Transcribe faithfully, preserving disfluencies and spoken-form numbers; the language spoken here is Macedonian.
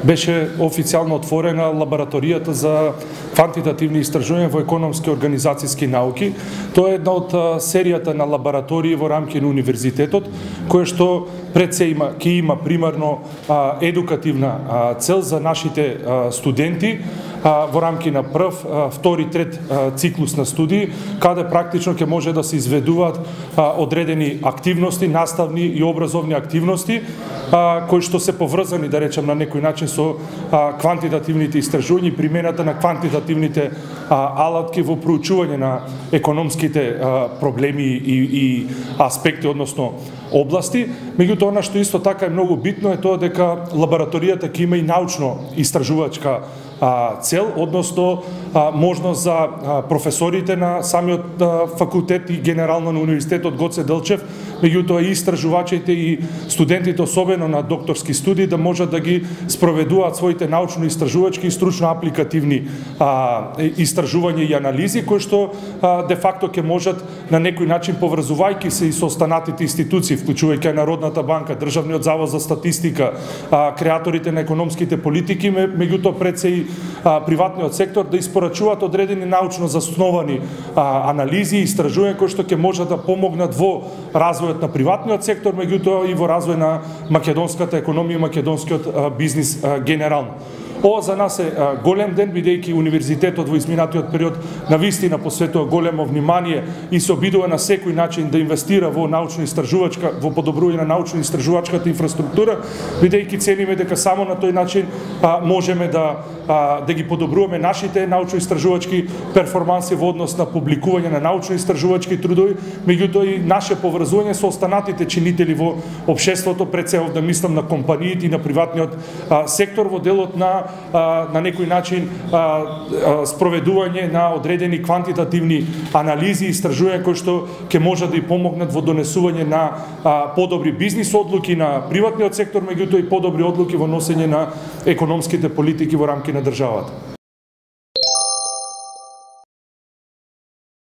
беше официјално отворена лабораторијата за квантитативни истражувања во економски и организацијски науки. Тоа е една од серијата на лаборатории во рамки на универзитетот, која што пред се има, ќе има примарно а, едукативна а, цел за нашите а, студенти а, во рамки на прв, а, втори, трет а, циклус на студии, каде практично ќе може да се изведуваат а, одредени активности, наставни и образовни активности, а, кои што се поврзани, да речем, на некој начин со а, квантитативните истражувања и примената на квантитативните а, алатки во проучување на економските а, проблеми и, и аспекти, односно области. Меѓутоа, она што исто така е многу битно е тоа дека лабораторијата ќе има и научно-истражувачка цел, односно можност за професорите на самиот факултет и генерално на Универзитетот Гоце Делчев, меѓутоа и истражувачите и студентите, особено на докторски студии, да можат да ги спроведуваат своите научно-истражувачки и стручно-апликативни истражувања и анализи, кои што де факто ќе можат на некој начин, поврзувајќи се и со останатите институции, вклучувајќи Народната банка, Државниот завод за статистика, креаторите на економските политики, меѓутоа пред се и приватниот сектор да испорачуваат одредени научно засновани анализи и истражувања кои што ќе можат да помогнат во развојот на приватниот сектор, меѓутоа и во развој на македонската економија и македонскиот бизнис генерално. Ова за нас е голем ден, бидејќи универзитетот во изминатиот период навистина посветува големо внимание и се обидува на секој начин да инвестира во научно-истражувачка, во подобрување на научно-истражувачката инфраструктура, бидејќи цениме дека само на тој начин а, можеме да а, да ги подобруваме нашите научно-истражувачки перформанси во однос на публикување на научно-истражувачки трудови, меѓутоа и наше поврзување со останатите чинители во општеството, пред се да мислам на компаниите и на приватниот а, сектор во делот на на некој начин спроведување на одредени квантитативни анализи и истражувања кои што ќе можат да и помогнат во донесување на подобри бизнис одлуки на приватниот сектор, меѓутоа и подобри одлуки во носење на економските политики во рамки на државата.